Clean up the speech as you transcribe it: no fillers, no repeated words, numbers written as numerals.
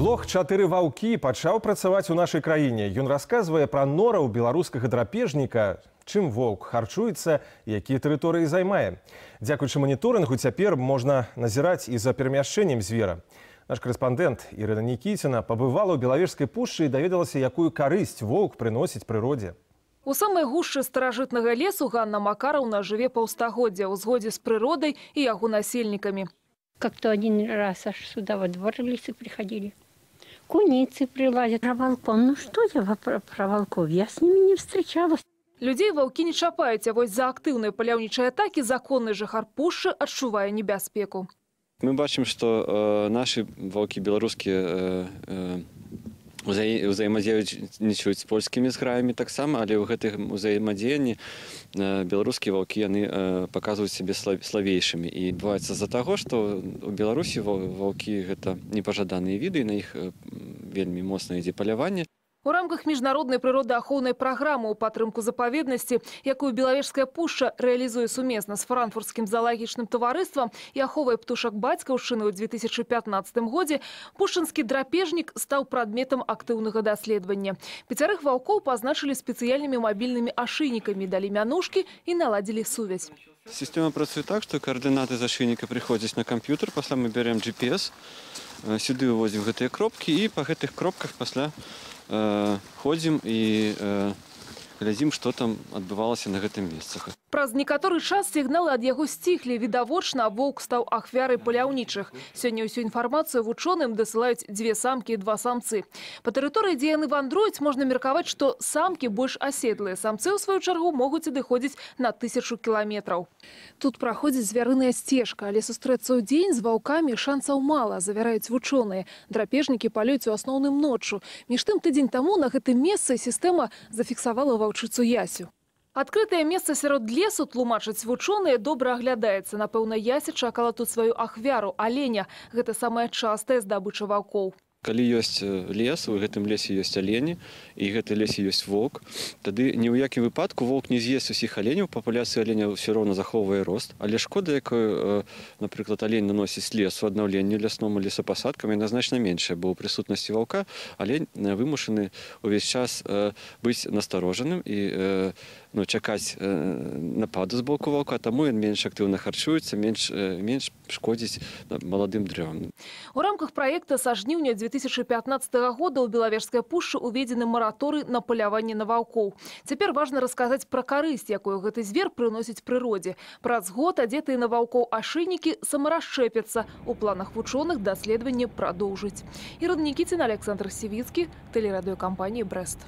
Блог «4 ваўкі» пачаў працаваць у нашай краіне. Ён расказвае пра нораў беларускага драпежніка, чым воўк харчуецца, якія тэрыторыі займае. Дзякуючы маніторынгу цяпер можна назіраць і за перамяшчэннем звера. Наш корэспандэнт Ірына Нікіціна пабывала ў Белавежскай пушчы і даведалася, якую карысць воўк прыносіць прыродзе. У самай гушчы старажытнага лесу Ганна Макараўна жыве паўстагоддзя ў згодзе з прыродай і яго насельнікамі. Как-то один раз аж сюда во двор лисы приходили. Куницы прилазят. Про волков. Ну что я про волков? Я с ними не встречалась. Людзей ваўкі не чапаюць, а вось за актыўныя паляўнічыя атакі законны жыхар пушчы адчувае небяспеку. Мы бачым, што нашы ваўкі беларускія ўзаемадзейнічаюць з польскімі зграямі таксама, але ў гэтым узаемадзеянні беларускія ваўкі яны паказваюць сябе славейшымі. І адбываецца з-за таго, што ў Беларусі ваўкі гэта непажаданыя віды, на іх вельмі моцна ідзе паляванне. У рамках міжнароднай прыродаахоўнай праграмы ў падтрымку запаведнасці, якую Белавежская пушча рэалізуе сумесна з франкфуртскім заалагічным таварыствам і аховай птушак бацькаўшчыны ў 2015 годзе, пушчынскі драпежнік стаў прадметам актыўнага даследавання. 5 ваўкоў пазначылі спецыяльнымі мабільнымі ашыйнікамі, далі мянушкі і наладзілі сувязь. Сістэма працуе так, што каардынаты з ашыйніка прыходзяць на камп'ютар, пасля мы бярем GPS, сюды вывозім гэтыя кропкі і па гэтых кропках пасля ходзім і глядзім, што там адбывалася на гэтым месцах. Праз некаторы час сігналы ад яго сціхлі. Відавочна, воўк стаў ахвярай паляўнічых. Сёння ўсю інфармацыю вучоным дасылаюць 2 самкі і 2 самцы. Па тэрыторыі, дзе яны вандруюць, можна меркаваць, што самкі больш аседлыя. Самцы, у сваю чаргу, могуць адыходзіць на 1000 кіламетраў. Тут праходзіць звярыная сцежка, але сустрэцца ў дзень з ваўкамі шансаў мала, завяраюць вучоныя. Драпежнікі палююць у асноўным ноччу. Між тым, тыдзень таму на гэтым месцы сістэма зафіксавала ваўчыцу Ясю. Адкрытае месца сярод лесу, тлумачаць вучоныя, добра аглядаецца. Напэўна, Яся чакала тут сваю ахвяру – аленя. Гэта самая частая здабыча ваўкоў. Калі ёсць лес, у гэтым лесе ёсць алені, і гэты лесе ёсць воўк, тады ні ў якім выпадку воўк не з'ест усіх аленяў, папуляцыя аленя ўсё роўна захоўвае рост. Але шкода, якую, напрыклад, алень наносіць лесу, аднаўленню лясному лесапасадкам, яна значна меншая, бо ў прысутнасці ваўка алень вымушаны ўвесь час быць насторожаным і чакаць нападу з боку ваўка, таму ён менш актыўна харчуецца, менш шкодзіць маладым дрэвам. У рамках праекта са жніўня 2015 года ў Белавежскай пушчы уведзены мараторый на паляванне на ваўкоў. Цяпер важна расказаць пра карысць, якую гэты звер прыносіць прыродзе. Праз год адзетыя на ваўкоў ашыйнікі самарасчэпяцца. У планах вучоных даследаванне прадоўжыць. Ірына Нікіціна, Александр Сівіцкі, тэлерадыёкампанія «Брэст».